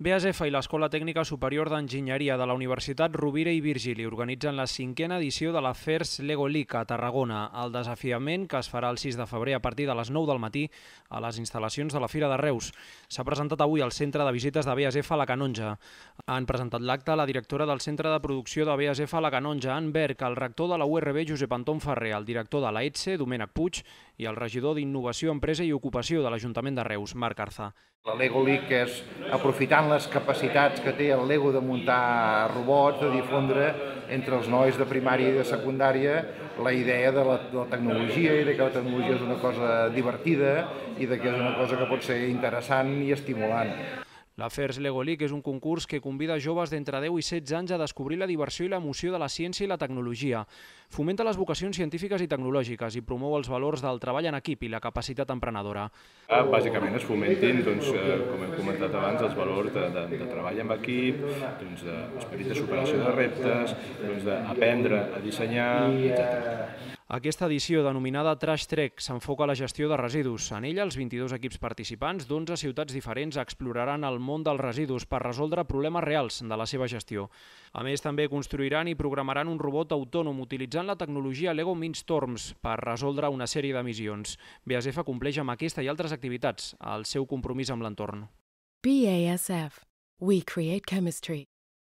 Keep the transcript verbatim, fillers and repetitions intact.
B A S F i l'Escola Tècnica Superior d'Enginyeria de la Universitat Rovira i Virgili organitzen la cinquena edició de la FIRST Lego League a Tarragona, el desafiament que es farà el sis de febrer a partir de les nou del matí a les instal·lacions de la Fira de Reus. S'ha presentat avui al Centre de Visites de B A S F a la Canonja. Han presentat l'acte la directora del Centre de Producció de B A S F a la Canonja, Ann Berg, el rector de la U R B, Josep Anton Ferrer, el director de la E T S E, Domènec Puig, i el regidor d'Innovació, Empresa i Ocupació de l'Ajuntament de Reus, Marc Arza. La Lego League és, aprofitant les capacitats que té el Lego de muntar robots, de difondre entre els nois de primària i de secundària la idea de la, de la tecnologia i de que la tecnologia és una cosa divertida i de que és una cosa que pot ser interessant i estimulant. La FIRST Lego League és un concurs que convida joves d'entre deu i setze anys a descobrir la diversió i l'emoció de la ciència i la tecnologia. Fomenta les vocacions científiques i tecnològiques i promou els valors del treball en equip i la capacitat emprenedora. Bàsicament es fomentin, doncs, com hem comentat abans, els valors de, de, de treball en equip, doncs, d'esperit de superació de reptes, doncs, d'aprendre a dissenyar, etcètera. Aquesta edició, denominada Trash Trek, s'enfoca a la gestió de residus. En ella, els vint-i-dos equips participants d'onze ciutats diferents exploraran el món dels residus per resoldre problemes reals de la seva gestió. A més, també construiran i programaran un robot autònom utilitzant la tecnologia Lego Mindstorms per resoldre una sèrie de missions. B A S F compleix amb aquesta i altres activitats el seu compromís amb l'entorn. B A S F. We create chemistry.